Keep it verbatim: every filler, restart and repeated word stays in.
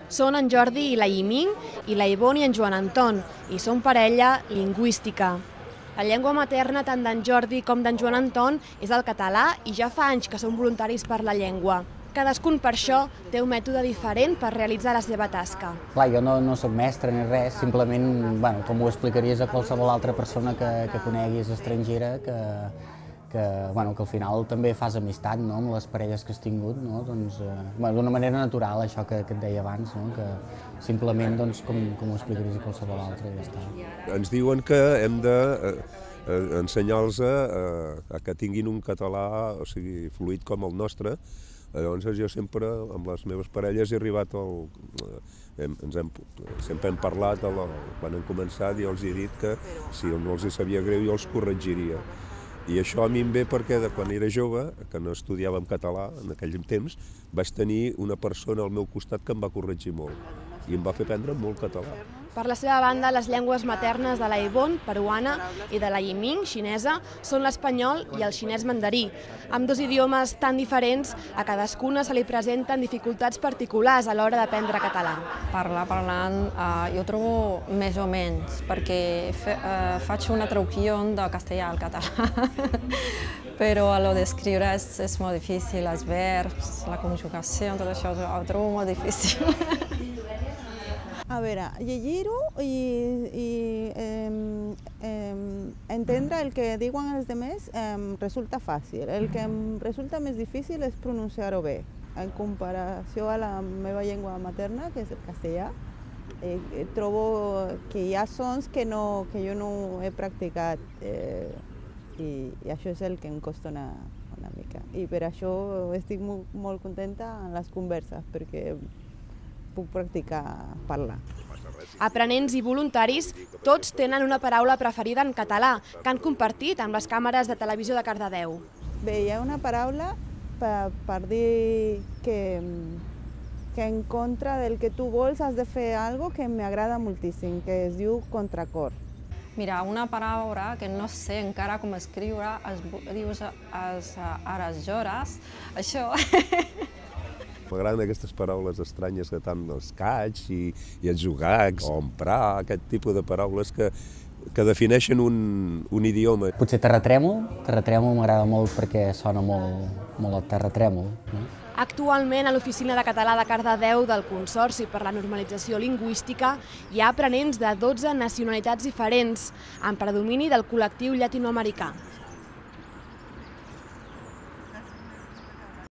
Són en Jordi i la Yiming i la Ivonne i en Joan Anton, i són parella lingüística. La llengua materna tant d'en Jordi com d'en Joan Anton és el català i ja fa anys que són voluntaris per la llengua. Cadascun per això té un mètode diferent per realitzar la seva tasca. Clar, jo no, no soc mestre ni res, simplement, bueno, com ho explicaries a qualsevol altra persona que, que coneguis estrangera, que, que, bueno, que al final també fas amistat, no?, amb les parelles que has tingut, no? Doncs, eh, bueno, d'una manera natural, això que, que et deia abans, no?, que simplement, doncs, com, com ho explicaries a qualsevol altra, ja està. Ens diuen que hem de eh, ensenyar-los a, a que tinguin un català, o sigui, fluid com el nostre. Llavors jo sempre, amb les meves parelles, he arribat al... Hem, ens hem, sempre hem parlat, la, quan hem començat, i els he dit que si no els sabia greu jo els corregiria. I això a mi em ve perquè de quan era jove, que no estudiava en català en aquell temps, vaig tenir una persona al meu costat que em va corregir molt i em va fer aprendre molt català. Per la seva banda, les llengües maternes de la Ivonne, peruana, i de la Yiming, xinesa, són l'espanyol i el xinès mandarí. Amb dos idiomes tan diferents, a cadascuna se li presenten dificultats particulars a l'hora d'aprendre català. Parlar, parlant, eh, jo trobo més o menys, perquè fe, eh, faig una traducció de castellà al català, però a l'hora d'escriure és, és molt difícil, els verbs, la conjugació, tot això ho trobo molt difícil. A veure, llegir-ho i, i eh, eh, entendre el que diuen els altres eh, resulta fàcil. El que em resulta més difícil és pronunciar-ho bé. En comparació a la meva llengua materna, que és el castellà, eh, trobo que hi ha sons que, no, que jo no he practicat eh, i, i això és el que em costa una, una mica. I per això estic molt, molt contenta en les converses, perquè puc practicar parlar. Aprenents i voluntaris, tots tenen una paraula preferida en català, que han compartit amb les càmeres de televisió de Cardedeu. Bé, hi ha una paraula per, per dir que, que en contra del que tu vols has de fer alguna cosa que m'agrada moltíssim, que es diu contracor. Mira, una paraula que no sé encara com escriure, es dius es, ares llores, això... M'agraden aquestes paraules estranyes que tant els caig i, i els jugacs, o emprar, aquest tipus de paraules que, que defineixen un, un idioma. Potser terratrèmol, terratrèmol m'agrada molt perquè sona molt, molt a terratrèmol. No? Actualment, a l'Oficina de Català de Cardedeu del Consorci per la Normalització Lingüística hi ha aprenents de dotze nacionalitats diferents, amb predomini del col·lectiu llatinoamericà.